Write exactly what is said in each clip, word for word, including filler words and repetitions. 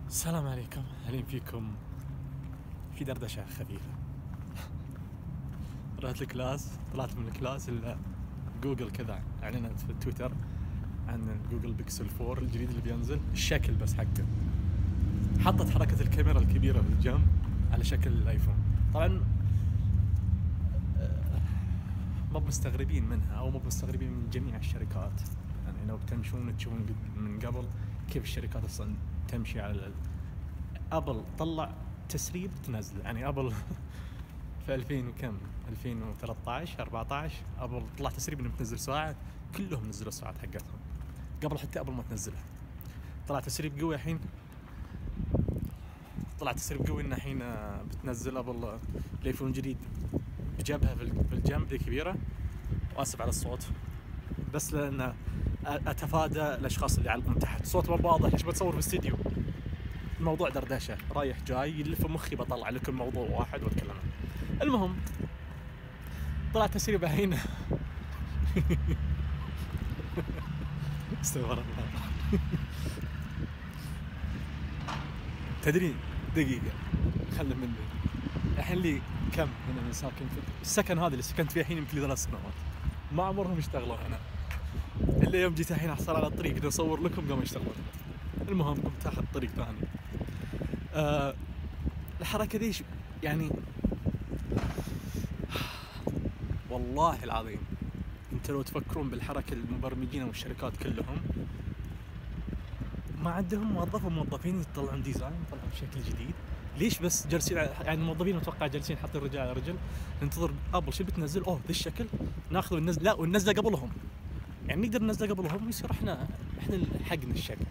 السلام عليكم، أهلين فيكم في دردشة خفيفة. رحت الكلاس، طلعت من الكلاس إلا جوجل كذا أعلنت في تويتر عن الجوجل بيكسل فور الجديد اللي بينزل، الشكل بس حقه حطت حركة الكاميرا الكبيرة في الجنب على شكل الآيفون. طبعا ما مستغربين منها أو ما مستغربين من جميع الشركات، يعني لو بتمشون تشوفون من قبل كيف الشركات أصلا تمشي على ال... أبل طلع تسريب تنزل، يعني أبل في ألفين وكم ألفين وثلاثة عشر أربعة عشر أبل طلع تسريب إنه بتنزل ساعة، كلهم نزلوا الساعات حقتهم قبل حتى أبل ما تنزلها. طلع تسريب قوي الحين، طلع تسريب قوي إن الحين بتنزل أبل الآيفون الجديد بجابها في الجنب ذي كبيرة. وآسف على الصوت بس لأن أتفادى الأشخاص اللي يعلقون تحت صوت ما واضح، ليش بتصور في الاستديو؟ الموضوع دردشة رايح جاي يلف مخي، بطلع لكم موضوع واحد واتكلم. المهم طلع تسريب الحين. استغفر الله. تدري دقيقة خلنا مني الحين لي كم من أنا ساكن في السكن هذا اللي سكنت فيه الحين يمكن لي ثلاث سنوات، ما عمرهم اشتغلوا هنا إلا يوم جيت الحين أحصل على الطريق بدي أصور لكم قاموا يشتغلون. المهم قمت أخذ طريق ثاني. أه الحركة دي يعني والله العظيم انت لو تفكرون بالحركة المبرمجين والشركات كلهم ما عندهم موظف وموظفين يطلعون ديزاين يطلعون شكل جديد. ليش بس جالسين يعني الموظفين متوقع جالسين حاطين رجال على رجل ننتظر ابل شو بتنزل؟ اوه ذا الشكل ناخذ وننزل، لا وننزله قبلهم، يعني نقدر ننزله قبلهم ويصير احنا احنا حقنا الشكل،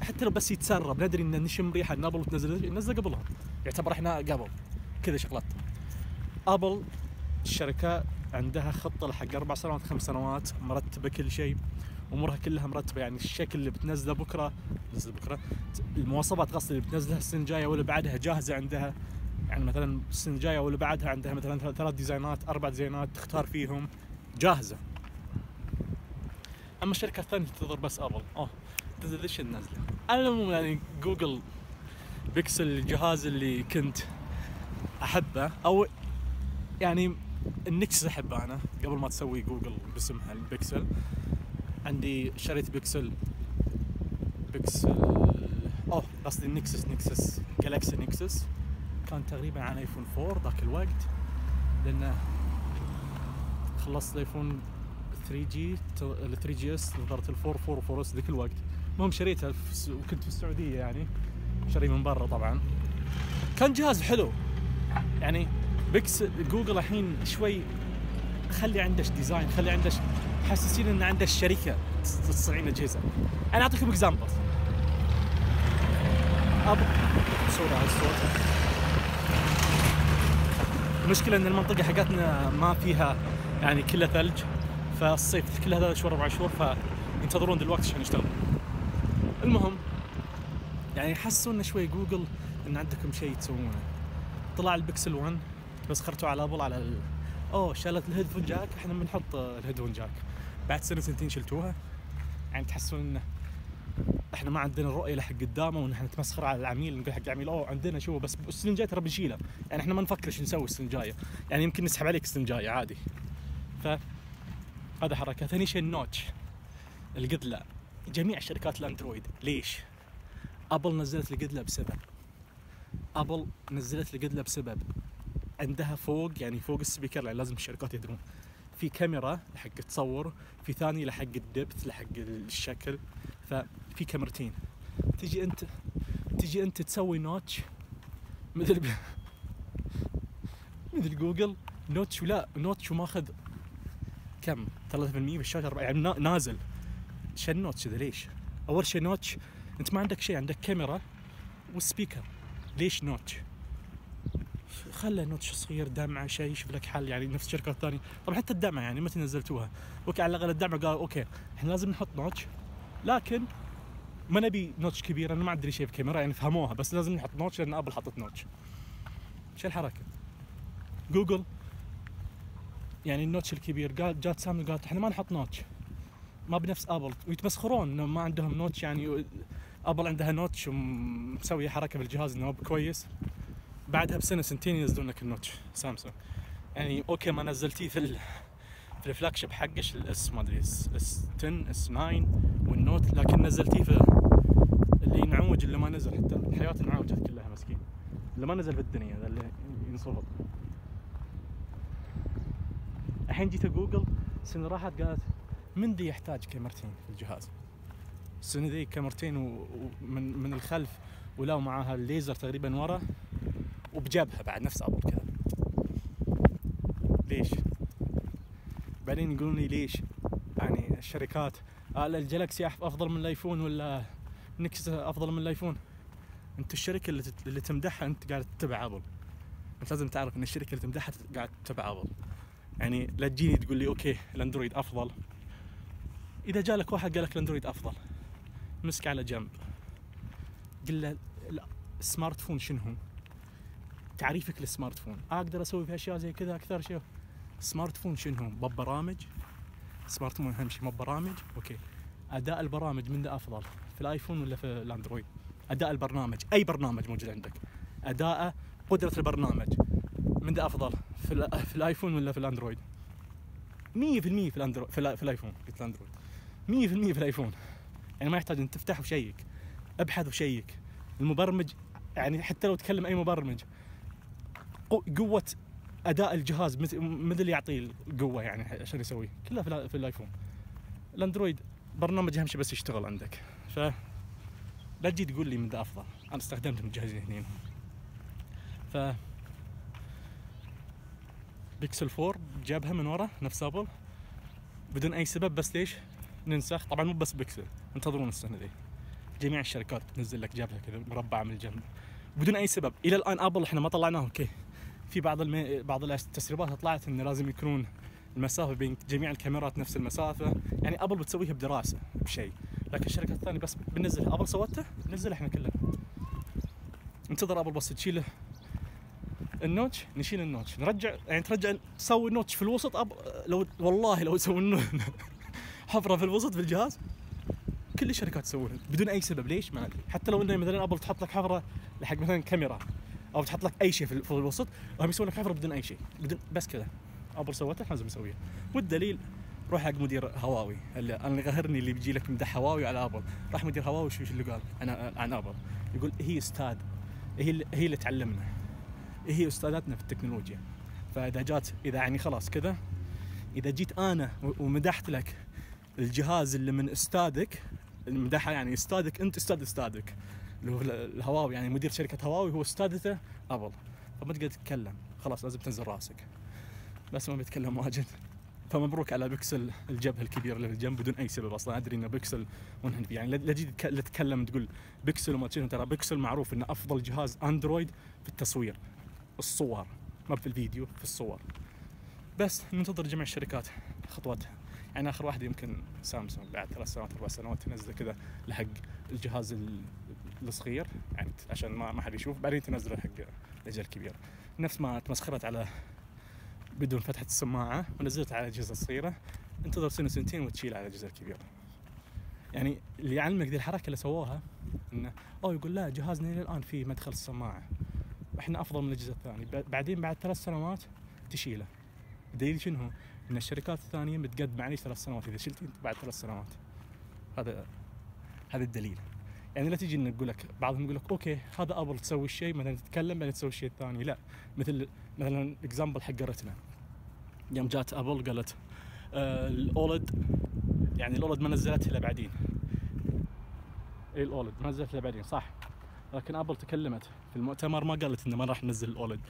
حتى لو بس يتسرب ندري ان نشم ريحه ان ابل تنزل ننزله قبلهم، يعتبر احنا قبل كذا شغلات. ابل الشركه عندها خطه لحق اربع سنوات خمس سنوات مرتبه كل شيء، امورها كلها مرتبه، يعني الشكل اللي بتنزله بكره نزل بكره، المواصفات قصدي اللي بتنزلها السنه الجايه واللي بعدها جاهزه عندها، يعني مثلا السنه الجايه واللي بعدها عندها مثلا ثلاث ديزاينات اربع ديزاينات تختار فيهم جاهزه. اما الشركه الثانيه تنتظر بس ابل اوه تنزل ايش النازله. المهم يعني جوجل بيكسل الجهاز اللي كنت احبه، او يعني النكسس احبه انا قبل ما تسوي جوجل باسمها البيكسل. عندي شريت بيكسل بيكسل اوه قصدي النكسس نكسس جالكسي نكسس، كان تقريبا عن ايفون فور ذاك الوقت، لانه خلصت الايفون ثري جي ال ثري جي اس نظرت الفور فور فور اس ذاك الوقت. المهم شريتها وكنت في السعوديه، يعني شري من برا طبعا، كان جهاز حلو. يعني بيكسل جوجل الحين شوي خلي عندش ديزاين، خلي عندش حسسين ان عندك شركه تصنع اجهزه. انا اعطيكم اكزامبل. اب صوره على الصوت. المشكله ان المنطقه حقتنا ما فيها يعني كلها ثلج، فالصيف كل هذا شهور اربع شهور فينتظرون دلوقتي عشان يشتغلوا. المهم يعني حسوا ان شوي جوجل ان عندكم شيء تسوونه. طلع البكسل ون بس خرتوا على ابل على ال... اوه شالت الهيدفون جاك، احنا بنحط الهيدفون جاك بعد سنه سنتين شلتوها. يعني تحسون انه احنا ما عندنا الرؤيه لحق قدامه، وان احنا نتمسخر على العميل نقول حق العميل اوه عندنا شو، بس السنه الجايه ترى بنشيله، يعني احنا ما نفكر ايش نسوي السنه الجايه، يعني يمكن نسحب عليك السنه الجايه عادي. ف هذا حركه. ثاني شيء النوتش القدله، جميع شركات الاندرويد ليش؟ ابل نزلت القدله بسبب ابل نزلت القدله بسبب عندها فوق، يعني فوق السبيكر، يعني لازم الشركات يدرون في كاميرا لحق تصور، في ثاني لحق الدبث لحق الشكل، ففي كاميرتين. تجي انت تجي انت تسوي نوتش مثل ب... مثل جوجل نوتش، ولا نوتش وماخذ كم ثلاثة بالمئة بالشاشة، يعني نازل. شو النوتش ذا ليش؟ اول شيء نوتش انت ما عندك شيء، عندك كاميرا والسبيكر، ليش نوتش؟ خلى نوتش صغير دمعه شيء يشوف لك حل، يعني نفس الشركات الثانيه. طبعا حتى الدمعه يعني متى نزلتوها؟ اوكي على الاقل الدمعه قالوا اوكي احنا لازم نحط نوتش، لكن ما نبي نوتش كبير، انا ما ادري شيء بكاميرا، يعني فهموها بس لازم نحط نوتش لان ابل حطت نوتش. شو الحركه؟ جوجل يعني النوتش الكبير قال جات سامسونج قالت احنا ما نحط نوتش، ما بنفس ابل، ويتمسخرون انه ما عندهم نوتش، يعني ابل عندها نوتش ومسوي حركه بالجهاز انه كويس، بعدها بسنه سنتين ينزلون لك النوتش سامسونج. يعني اوكي ما نزلتيه في ال... في الفلاج شيب حقش الاس ما ادري اس اس عشرة اس تسعة والنوت، لكن نزلتيه في اللي ينعوج اللي ما نزل، حتى الحياه انعوجت كلها مسكين اللي ما نزل في الدنيا ذا اللي ينصفط. الحين جيت جوجل السنه راحت قالت من دي يحتاج كاميرتين في الجهاز، السنه ذي كاميرتين ومن من الخلف ولو معاها الليزر تقريبا ورا وبجبهه بعد نفس ابل كذا. ليش؟ بعدين يقولون لي ليش يعني الشركات آه الجلاكسي افضل من الايفون ولا نكس افضل من الايفون. انت الشركه اللي اللي تمدحها انت قاعد تتبع ابل، انت لازم تعرف ان الشركه اللي تمدحها قاعد تتبع ابل. يعني لا تجيني تقول لي اوكي الاندرويد افضل، اذا جالك واحد قال لك الاندرويد افضل مسك على جنب قل له السمارت فون شنو هو؟ تعريفك للسمارت فون اقدر اسوي فيه اشياء زي كذا اكثر شيء. سمارت فون شنو هو؟ ببرامج. سمارت فون اهم شيء ببرامج. اوكي اداء البرامج من ده افضل في الايفون ولا في الاندرويد؟ اداء البرنامج اي برنامج موجود عندك اداء قدره البرنامج من ده افضل في, في الايفون ولا في الاندرويد؟ مية بالمية في الاندرويد في, في الايفون. قلت الاندرويد مية بالمية في الايفون. يعني ما يحتاج ان تفتح وشيك ابحث وشيك. المبرمج يعني حتى لو تكلم اي مبرمج قوه اداء الجهاز مثل يعطيه القوه يعني عشان يسويه كلها في, في الايفون. الاندرويد برنامج اهم شيء بس يشتغل عندك. ف لا تجي تقول لي من ذا افضل، انا استخدمت الجهازين اثنين. ف بيكسل فور جابها من ورا نفس ابل بدون اي سبب، بس ليش ننسخ؟ طبعا مو بس بيكسل، انتظرون السنه ذي جميع الشركات تنزل لك جابها كذا مربعه من الجنب بدون اي سبب. الى الان ابل احنا ما طلعناه. اوكي في بعض المي... بعض التسريبات طلعت انه لازم يكونون المسافه بين جميع الكاميرات نفس المسافه، يعني ابل بتسويها بدراسه بشيء، لكن الشركات الثانيه بس بنزلها. ابل سوته ننزل احنا كلنا. انتظر ابل بس تشيل النوتش نشيل النوتش نرجع، يعني ترجع تسوي النوتش في الوسط. أب... لو والله لو يسوون حفره في الوسط في الجهاز كل الشركات تسوونها بدون اي سبب. ليش؟ ما ادري. حتى لو انه مثلا ابل تحط لك حفره لحق مثلا كاميرا او تحط لك اي شيء في الوسط، هم يسوون لك حفره بدون اي شيء بدون بس كذا. ابل سوتها لازم نسويها. والدليل روح حق مدير هواوي اللي انا غهرني اللي بيجي لك مدح هواوي على ابل. راح مدير هواوي شو اللي قال انا عن ابل؟ يقول هي استاذ، هي اللي هي اللي تعلمنا، هي استاذتنا في التكنولوجيا. فاذا جات اذا يعني خلاص كذا اذا جيت انا ومدحت لك الجهاز اللي من استاذك المدحها، يعني استاذك انت استاذ استاذك اللي هو الهواوي، يعني مدير شركه هواوي هو استاذته ابل، فما تقدر تتكلم خلاص لازم تنزل راسك. بس ما بيتكلم واجد. فمبروك على بيكسل الجبهه الكبيره اللي في الجنب بدون اي سبب. اصلا ادري ان بيكسل منهن فيه، يعني لا تجي تتكلم تقول بيكسل وما تشوف. ترى بيكسل معروف انه افضل جهاز اندرويد في التصوير الصور، ما في الفيديو في الصور. بس ننتظر جميع الشركات خطواتها. يعني اخر واحده يمكن سامسونج بعد ثلاث سنوات اربع سنوات تنزل كذا لحق الجهاز الصغير يعني عشان ما ما حد يشوف، بعدين تنزله حق الاجهزه الكبيره. نفس ما تمسخرت على بدون فتحه السماعه ونزلت على الاجهزه الصغيره، انتظر سنه سنتين وتشيل على الاجهزه الكبيره. يعني اللي يعلمك ذي الحركه اللي سووها انه او يقول لا جهازنا الى الان فيه مدخل السماعه احنا افضل من الاجهزه الثانيه، بعدين بعد ثلاث سنوات تشيله. الدليل شنو هو؟ ان الشركات الثانيه متقدمه عليه ثلاث سنوات، اذا شلت بعد ثلاث سنوات. هذا هذا الدليل. يعني لا تجي نقول لك بعضهم يقول لك اوكي هذا ابل تسوي الشيء مثلا تتكلم بعدين تسوي الشيء الثاني. لا، مثل مثلا اكزامبل حق رتنا يوم جات ابل قالت آه الاولد، يعني الاولد ما نزلتها الا بعدين. اي الاولد ما نزلتها الا بعدين صح، لكن ابل تكلمت في المؤتمر ما قالت انه ما راح ننزل الاولد،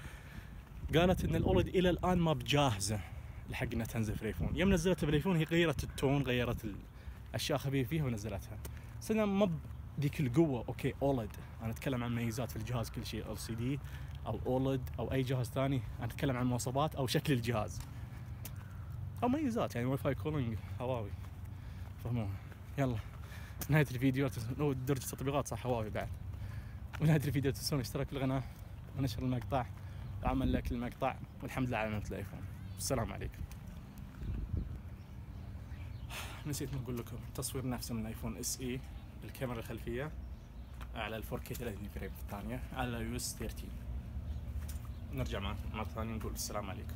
قالت ان الاولد الى الان ما بجاهزه لحق انها تنزل في الايفون. يوم نزلتها في الايفون هي غيرت التون غيرت الاشياء خفيفه فيها ونزلتها. سنة ما ذيك القوه. اوكي اولد انا اتكلم عن ميزات في الجهاز كل شيء، ال سي دي او اولد او اي جهاز ثاني، انا اتكلم عن مواصفات او شكل الجهاز او ميزات، يعني واي فاي كولينج هواوي فهموها. يلا نهايه الفيديو لو درجه التطبيقات صح هواوي بعد. ونهايه الفيديو تنسون الاشتراك في القناه ونشر المقطع وعمل لايك للمقطع، والحمد لله على نعمه الايفون. السلام عليكم. نسيت ما اقول لكم تصوير نفسه من الايفون اس اي الكاميرا الخلفيه على ال فور كي ثلاثين فريم في الثانية على يو اس ثلاثة عشر. نرجع مرة ثانية نقول السلام عليكم.